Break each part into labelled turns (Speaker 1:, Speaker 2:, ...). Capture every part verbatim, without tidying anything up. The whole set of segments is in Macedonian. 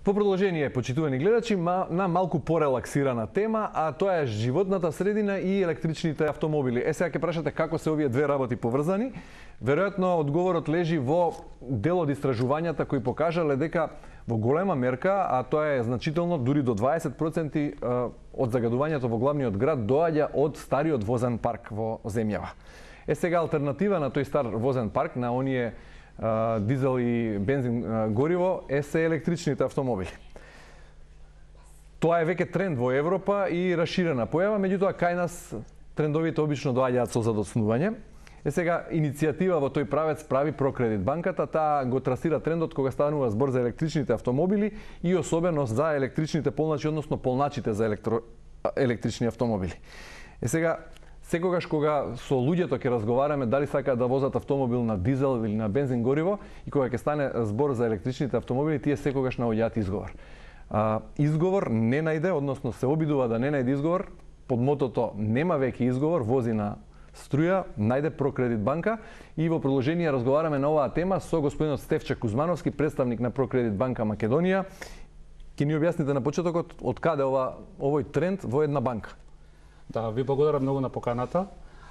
Speaker 1: Во продолжение, почитувани гледачи, на малку порелаксирана тема, а тоа е животната средина и електричните автомобили. Е, сега ќе прашате како се овие две работи поврзани. Веројатно, одговорот лежи во дел од истражувањата кои покажале дека во голема мерка, а тоа е значително, дури до дваесет проценти од загадувањето во главниот град доаѓа од стариот возен парк во земјава. Е, сега алтернатива на тој стар возен парк, на оние дизел и бензин гориво, е се електричните автомобили. Тоа е веќе тренд во Европа и расширена појава, меѓутоа кај нас трендовите обично доаѓаат со задоцнување. Е, сега иницијатива во тој правец прави Прокредит банката, таа го трасира трендот кога станува збор за електричните автомобили и особено за електричните полначи, односно полначите за електро... електрични автомобили. Е, сега секогаш кога со луѓето ќе разговараме дали сакаат да возат автомобил на дизел или на бензин гориво и кога ќе стане збор за електричните автомобили, тие секогаш наоѓаат изговор. А, изговор не најде, односно се обидува да не најде изговор, под мотото нема веќе изговор, вози на струја, најде Прокредит банка и во продолжение разговараме на оваа тема со господинот Стефче Кузмановски, представник на Прокредит банка Македонија. Ќе ни објасните на почетокот од каде ова овој тренд во една банка?
Speaker 2: Да, ви благодарам многу на поканата.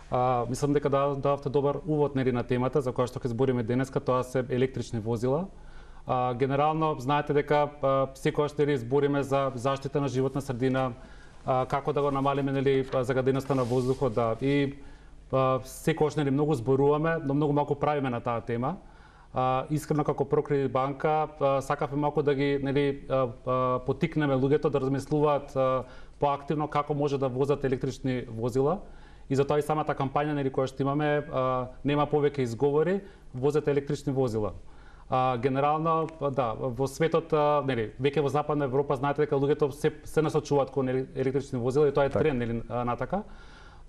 Speaker 2: А, мислам дека дававте добар увод нели на темата за која што ќе збориме денеска, тоа се електрични возила. А, генерално знаете дека секогаш нели збориме за заштита на животна средина, а, како да го намалиме нели загаденоста на воздухот, да. И секогаш нели многу зборуваме, но многу малку правиме на таа тема. А, искрено како Прокредит банка сакавме малку да ги нели потикнеме луѓето да размислуваат поактивно како може да возат електрични возила. И затоа и самата кампања нели која што имаме а, нема повеќе изговори, возете електрични возила. А, генерално да, во светот а, нели веќе во Западна Европа знаете дека луѓето се се насочуваат кон електрични возила и тоа е тренд нели натака.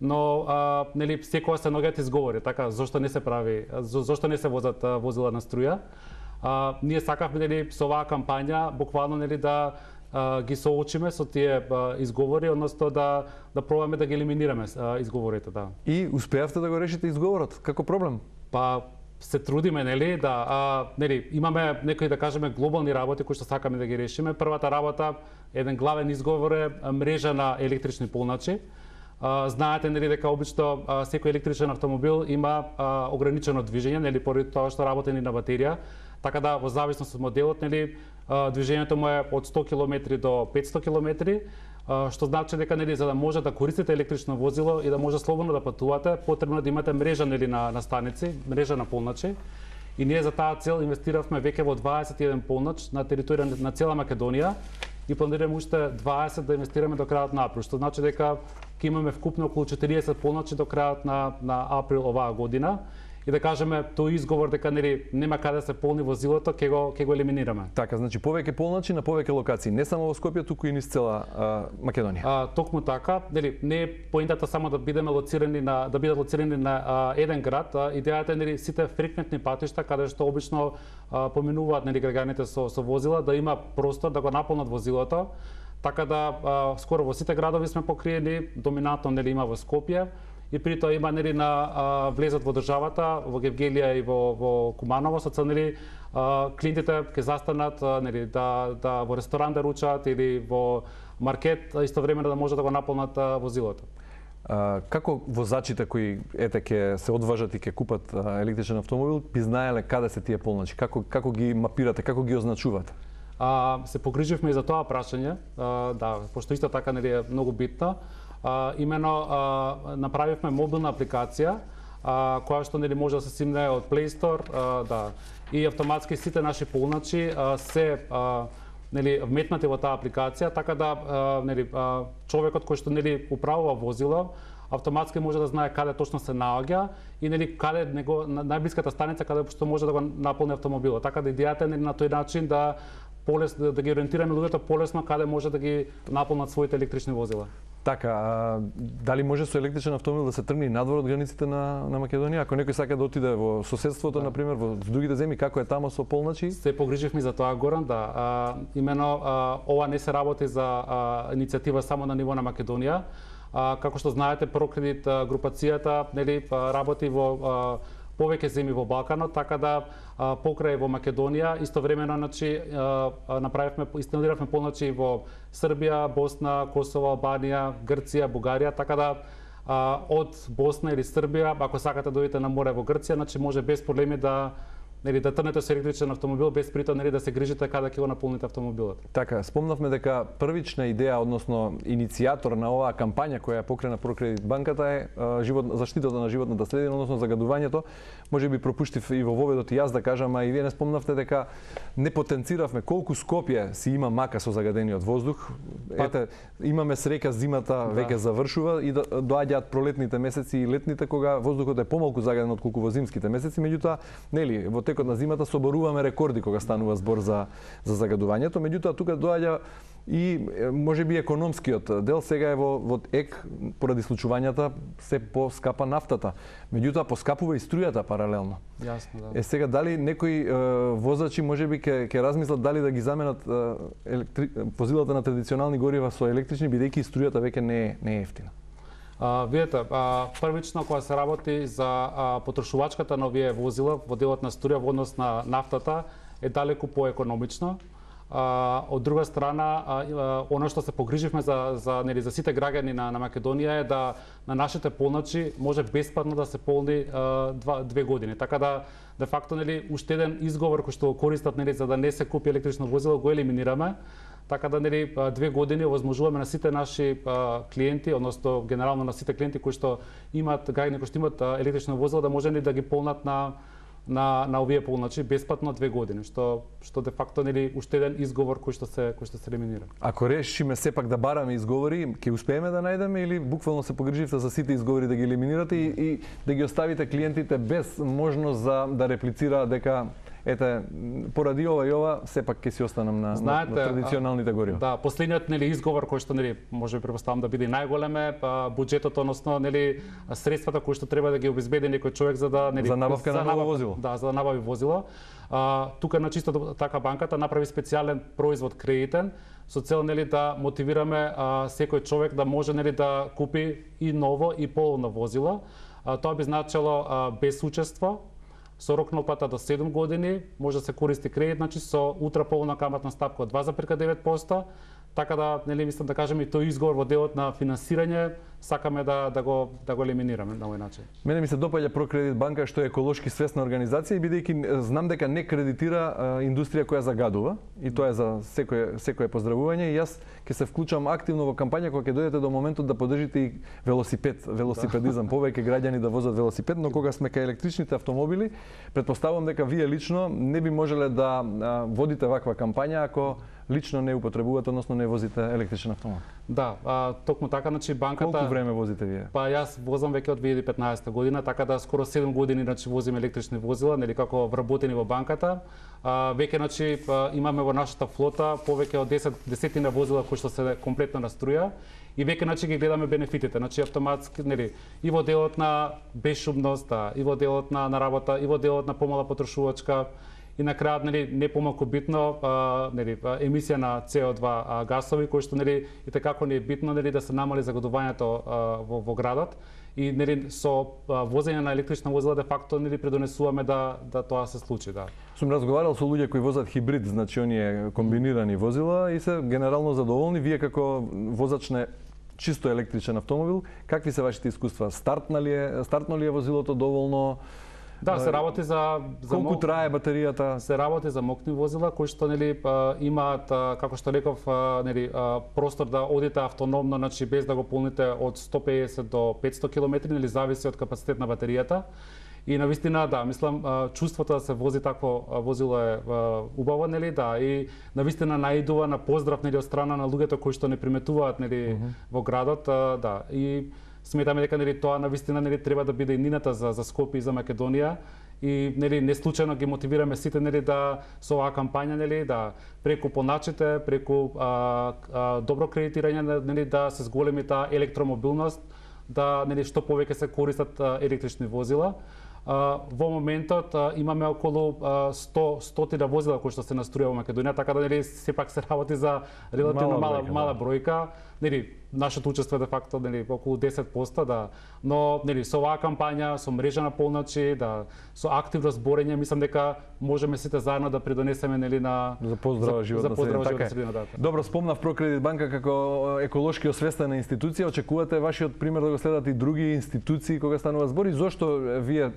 Speaker 2: Но а, нели секогаш се наоѓаат изговори, така зошто не се прави, за, зошто не се возат а, возила на струја. А, ние сакавме нели со оваа кампања буквално нели да а, ги соочиме со тие а, изговори, односно да да пробаме да ги елиминираме а, изговорите, да.
Speaker 1: И успеавте да го решите изговорот? Како проблем?
Speaker 2: Па се трудиме, нели, да, а, нели, имаме некои да кажеме глобални работи кои што сакаме да ги решиме. Првата работа, еден главен изговор е мрежа на електрични полначи. Uh, знаете нели дека обично uh, секој електричен автомобил има uh, ограничено движење, нели поради тоа што работи на батерија, така да во зависност од моделот нели uh, движењето му е од сто километри до петсто километри, uh, што значи дека нели за да може да користите електрично возило и да може слободно да патувате, потребно е да имате мрежа нели на на станици, мрежа на полначи. И ние за таа цел инвестиравме веќе во дваесет и еден полнач на територија на цела Македонија и планираме уште дваесет да инвестираме до крајот на април, што значи дека ќе имаме вкупно околу четириесет полночи до крајот на на април оваа година. И да кажеме тој изговор дека нели нема каде да се полни возилото, ќе го ќе го елиминираме.
Speaker 1: Така, значи повеќе полночи на повеќе локации, не само во Скопје, туку и низ цела а, Македонија.
Speaker 2: А, токму така, нели не е поентата само да бидеме лоцирани на да бидат лоцирани на а, еден град, а, идејата е нели сите фреквентни патишта каде што обично а, поминуваат нели граѓаните со со возила да има простор да го наполнат возилото. Така да а, скоро во сите градови сме покриени, доминантно нели има во Скопје и при тоа има нели на а, влезат во државата, во Гевгелија и во во Куманово со цел нели а, клиентите ќе застанат а, нели да да во ресторан да ручаат или во маркет истовремено да може да го наполнат а, возилото.
Speaker 1: А, како возачите кои ете ќе се одважат и ќе купат а, електричен автомобил, би знаеле каде се тие полночи? Како како ги мапирате, како ги означувате?
Speaker 2: А, се погриживме и за тоа прашање, а, да, пошто исто така нели е многу битно. А, имено а, направивме мобилна апликација а, која што нели може да се симне од Play Store, а, да. И автоматски сите наши полначи а, се а, нели вметнати во таа апликација, така да а, нели а, човекот кој што нели управува возило автоматски може да знае каде точно се наоѓа и нели каде него најблиската станица каде што може да го наполни автомобилот. Така да идејата е нели на тој начин да полесно да, да ги ориентираме луѓето полесно каде може да ги наполнат своите електрични возила.
Speaker 1: Така, а, дали може со електричен автомобил да се тргне и надвор од границите на на Македонија? Ако некој сака да отиде во соседството, да. На пример, во другите земји, како е таму со полночи?
Speaker 2: Се погриживме за тоа, Горан, да. А, имено а, ова не се работи за а, иницијатива само на ниво на Македонија. А, како што знаете, Прокредит групацијата нели работи во а, повеќе земји во Балканот, така да а, покрај во Македонија истовремено значи направивме инсталиравме полночи во Србија, Босна, Косово, Албанија, Грција, Бугарија, така да а, од Босна или Србија, ако сакате да дојдете на море во Грција, значи може без проблеми да нели да трнете со електричен автомобил без притоа нели да се грижите каде ќе го наполните автомобилот.
Speaker 1: Така, спомнавме дека првична идеја, односно иницијатор на оваа кампања која ја покрена Прокредит банката е живот, заштитата на животната средина, односно загадувањето. Може би пропуштив и во воведот и јас да кажам, а и вие не спомнавте дека не потенциравме колку Скопје си има мака со загадениот воздух. Па... Ете, имаме среќа зимата да. веќе завршува и доаѓаат пролетните месеци и летните кога воздухот е помалку загаден отколку во зимските месеци, меѓутоа нели во текот на зимата соборуваме рекорди кога станува збор за за загадувањето, меѓутоа тука доаѓа и можеби економскиот дел. Сега е во во ек поради случувањата се поскапа нафтата, меѓутоа поскапува и струјата паралелно.
Speaker 2: Јасно, да.
Speaker 1: Е сега дали некои е, возачи можеби ќе ќе размислат дали да ги заменат е, електри... возилата на традиционални горива со електрични, бидејќи струјата веќе не е не е ефтина.
Speaker 2: А, видете, а, првично кога се работи за а, потрошувачката на овие возила во делот на струја во однос на нафтата е далеку поекономично. А, од друга страна, а, а, оно што се погриживме за за нели за сите граѓани на на Македонија е да на нашите полночи може бесплатно да се полни а, два, две години. Така да де факто нели уште еден изговор кој што го користат нели за да не се купи електрично возило го елиминираме. Така да нели две години овозможуваме на сите наши а, клиенти, односно генерално на сите клиенти кои што имаат граѓани кои што имаат а, електрично возило да може нели да ги полнат на на на овие полночи бесплатно две години, што што де факто нели уште еден изговор кој што се кој што се елиминира.
Speaker 1: Ако решиме сепак да бараме изговори, ќе успееме да најдеме или буквално се погриживте за сите изговори да ги елиминирате и, и да ги оставите клиентите без можност за да реплицираат дека ете, поради ова и ова, сепак ќе си останам на, Знаете, на, на традиционалните горива.
Speaker 2: Да, последниот нели изговор кој што нели може би претпоставам да биде најголем е буџетот, односно нели средствата кои што треба да ги обезбеди некој човек за да нели
Speaker 1: за набавка на ново возило.
Speaker 2: Да, за да набави возило. А, тука на чисто така банката направи специјален производ кредитен со цел нели да мотивираме а, секој човек да може нели да купи и ново и полно возило. А, тоа би значило а, без учество, со рок на отплата до седум години, може да се користи кредит, значи со утраполна каматна стапка од два зарез девет проценти, така да нели мислам да кажеме и тој изговор во делот на финансирање сакаме да да го да го елиминираме на овој начин.
Speaker 1: Мене ми се допаѓа Прокредит банка што е еколошки свесна организација и бидејќи знам дека не кредитира а, индустрија која загадува и тоа е за секое секое поздравување и јас ќе се вклучам активно во кампања кога ќе дојдете до моментот да поддржите и велосипед, велосипедизам, повеќе граѓани да возат велосипед, но кога сме кај електричните автомобили, претпоставувам дека вие лично не би можеле да а, водите ваква кампања ако лично не употребувате, односно не возите електричен автомобил.
Speaker 2: Да, а, токму така, значи банката...
Speaker 1: Колку време возите вие?
Speaker 2: Па јас возам веќе од две илјади и петнаесета година, така да скоро седум години значи возим електрични возила, нели како вработени во банката. А, веќе значи имаме во нашата флота повеќе од десет десетина возила кои што се комплетно на струја и веќе значи ги гледаме бенефитите, значи автоматски нели и во делот на безшумност, и во делот на на работа, и во делот на помала потрошувачка. И на крајот нели не помалку битно а, нели емисија на С О два а, гасови кои што нели и како не е битно нели да се намали загадувањето а, во, во градот и нели со а, возење на електрична возила де факто нели предонесуваме да да тоа се случи, да.
Speaker 1: Сум разговарал со луѓе кои возат хибрид, значи оние комбинирани возила и се генерално задоволни. Вие како возач на чисто електричен автомобил, какви се вашите искуства? Стартна ли е, стартно ли е возилото доволно?
Speaker 2: Да, се работи за за
Speaker 1: колку мок... трае батеријата?
Speaker 2: Се работи за мокни возила кои што нели имаат како што реков нели простор да одите автономно, значи без да го полните од сто педесет до петсто километри, нели зависи од капацитет на батеријата. И навистина да, мислам чувството да се вози такво возило е убаво, нели, да, и навистина наидува на поздрав нели од страна на луѓето кои што не приметуваат нели uh-huh. во градот, да. И сметаме дека нели тоа навистина нели треба да биде иднината за за Скопје и за Македонија и нели не случајно ги мотивираме сите нели да со оваа кампања нели да преку поначите, преку а, а, добро кредитирање нели да се зголеми таа електромобилност, да нели што повеќе се користат а, електрични возила. Uh, во моментот uh, имаме околу uh, сто стотина возила кои што се наструја во Македонија, така да нели сепак се работи за релативно мала,
Speaker 1: мала бројка,
Speaker 2: мала бројка. Нели нашето учество е де факто нели околу десет проценти, да, но нели со оваа кампања, со мрежа на полночи, да, со активно зборење, мислам дека можеме сите заедно да придонесеме нели на
Speaker 1: за поздрава животна
Speaker 2: за поздрава
Speaker 1: средина.
Speaker 2: животна средина, да.
Speaker 1: Добро, спомнав Прокредит банка како еколошки освестена институција. Очекувате вашиот пример да го следат и други институции кога станува збор и зошто вие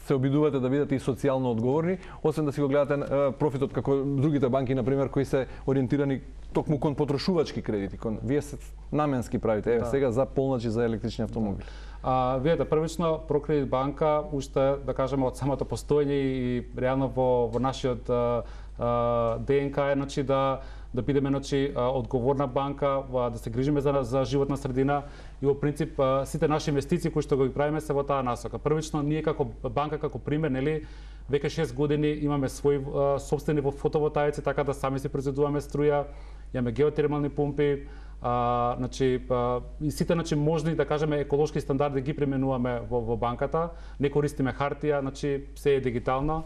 Speaker 1: се обидувате да бидете и социјално одговорни, освен да си го гледате профитот како другите банки, на пример, кои се ориентирани токму кон потрошувачки кредити, кон вие се наменски правите, еве
Speaker 2: да.
Speaker 1: Сега за полночи за електрични автомобили.
Speaker 2: А, видете, првично Прокредит банка уште да кажеме од самото постоење и реално во во нашиот а, а, ДНК е значи да да бидеме значи одговорна банка, да се грижиме за за животна средина и во принцип сите наши инвестиции кои што го правиме се во таа насока. Првично ние како банка како пример, нели, веќе шест години имаме своји сопствени фотоволтаици, така да сами си произведуваме струја, имаме геотермални помпи, а, значи а, и сите значи можни да кажеме еколошки стандарди ги применуваме во, во банката, не користиме хартија, значи се е дигитално.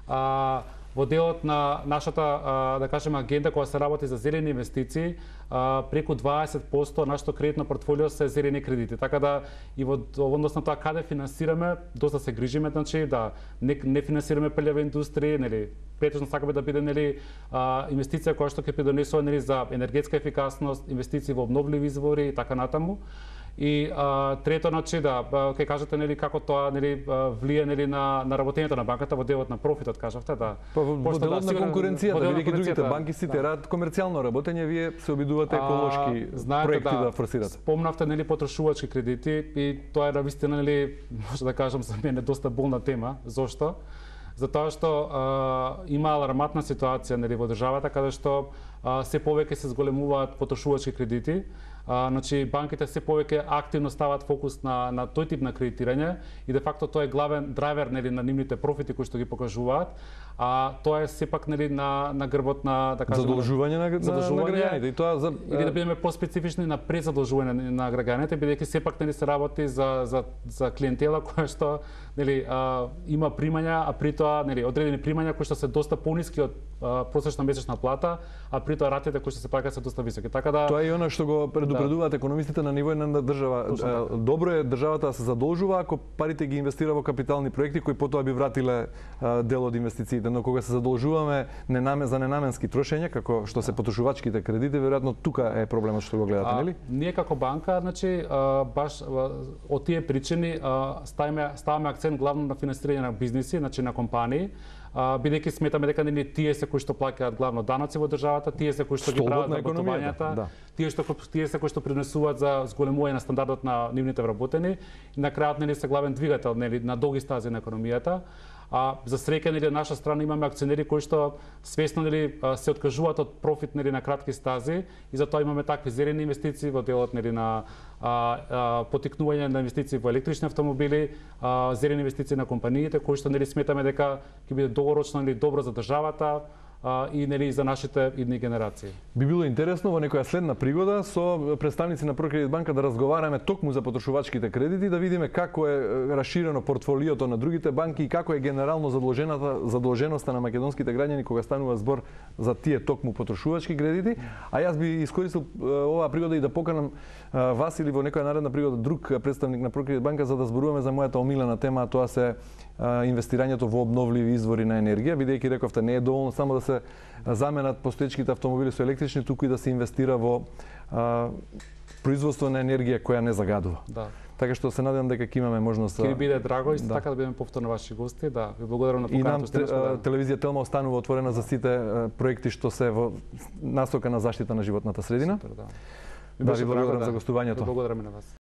Speaker 2: А, Во делот на нашата, да кажеме, агенда која се работи за зелени инвестиции, преку дваесет проценти нашето кредитно портфолио се зелени кредити. Така да и во однос на тоа каде финансираме, доста се грижиме, значи да не, не финансираме пелева индустрија, нели, претежно сакаме да биде нели инвестиција која што ќе придонесува нели за енергетска ефикасност, инвестиции во обновливи извори и така натаму. И а, трето, значи да, ќе кажете нели како тоа нели влие нели на на работењето на банката во делот на профитот, кажавте, да.
Speaker 1: Па во, во делот да, на конкуренцијата, бидејќи другите банки сите да. Рад комерцијално работење, вие се обидувате еколошки а, знаете, проекти да, да форсирате.
Speaker 2: Спомнавте нели потрошувачки кредити и тоа е навистина нели може да кажам за мене доста болна тема. Зошто? Затоа што а, има аларматна ситуација нели во државата каде што а, се повеќе се зголемуваат потрошувачки кредити. А, значи банките се повеќе активно стават фокус на на тој тип на кредитирање и де факто тоа е главен драйвер нели на нивните профити кои што ги покажуваат, а тоа е сепак нели на на грбот на да кажеме
Speaker 1: задолжување на, задолжување на граѓаните и тоа за
Speaker 2: или да бидеме поспецифични на презадолжување на, на граѓаните, бидејќи сепак нели се работи за за за клиентела која што нели а, има примања, а при тоа нели одредени примања кои што се доста пониски од а, просечна месечна плата, а при тоа ратите кои што се плаќаат се доста високи. Така да
Speaker 1: тоа е она што го предупредуваат да. Економистите на ниво на држава. Точно. Добро е државата да се задолжува ако парите ги инвестира во капитални проекти кои потоа би вратиле а, дел од инвестициите, но кога се задолжуваме ненаме за ненаменски трошење, како што се потрошувачките кредити, веројатно тука е проблемот што го гледате,
Speaker 2: а,
Speaker 1: нели?
Speaker 2: Ние како банка, значи а, баш а, од тие причини а, ставаме ставаме акцент главно на финансирање на бизниси, значи на компании, бидејќи сметаме дека нели тие се кои што плаќаат главно даноци во државата, тие се кои што ги прават вработувањата, да. тие што тие се кои што принесуваат за зголемување на стандардот на нивните вработени и на крајот нели се главен двигател нели на долги стази на економијата. А за среќа нели наша страна имаме акционери кои што свесно нели се откажуваат од профит нели на кратки стази и затоа имаме такви зелени инвестиции во делот нели на а, а, потикнување на инвестиции во електрични автомобили, а, зелени инвестиции на компаниите кои што нели сметаме дека ќе биде долгорочно нели добро за државата, а, и нели за нашите идни генерации.
Speaker 1: Би било интересно во некоја следна пригода со представници на Прокредит банка да разговараме токму за потрошувачките кредити, да видиме како е расширено портфолиото на другите банки и како е генерално задолжената задолженоста на македонските граѓани кога станува збор за тие токму потрошувачки кредити. А јас би искористил оваа пригода и да поканам вас или во некоја наредна пригода друг представник на Прокредит банка за да зборуваме за мојата омилена тема, а тоа се инвестирањето во обновливи извори на енергија, бидејќи рековте не е доволно само да се заменат постоечките автомобили со електрични, туку и да се инвестира во а, производство на енергија која не загадува.
Speaker 2: Да.
Speaker 1: Така што се надевам дека ќе имаме можност.
Speaker 2: Ќе биде драго исто да. Така да бидеме повторно ваши гости, да. Ви благодарам на поканата.
Speaker 1: И нам телевизија Телма останува отворена за сите проекти што се во насока на заштита на животната средина.
Speaker 2: Супер, да.
Speaker 1: Да, ви благодарам за гостувањето.
Speaker 2: Благодарам и на вас.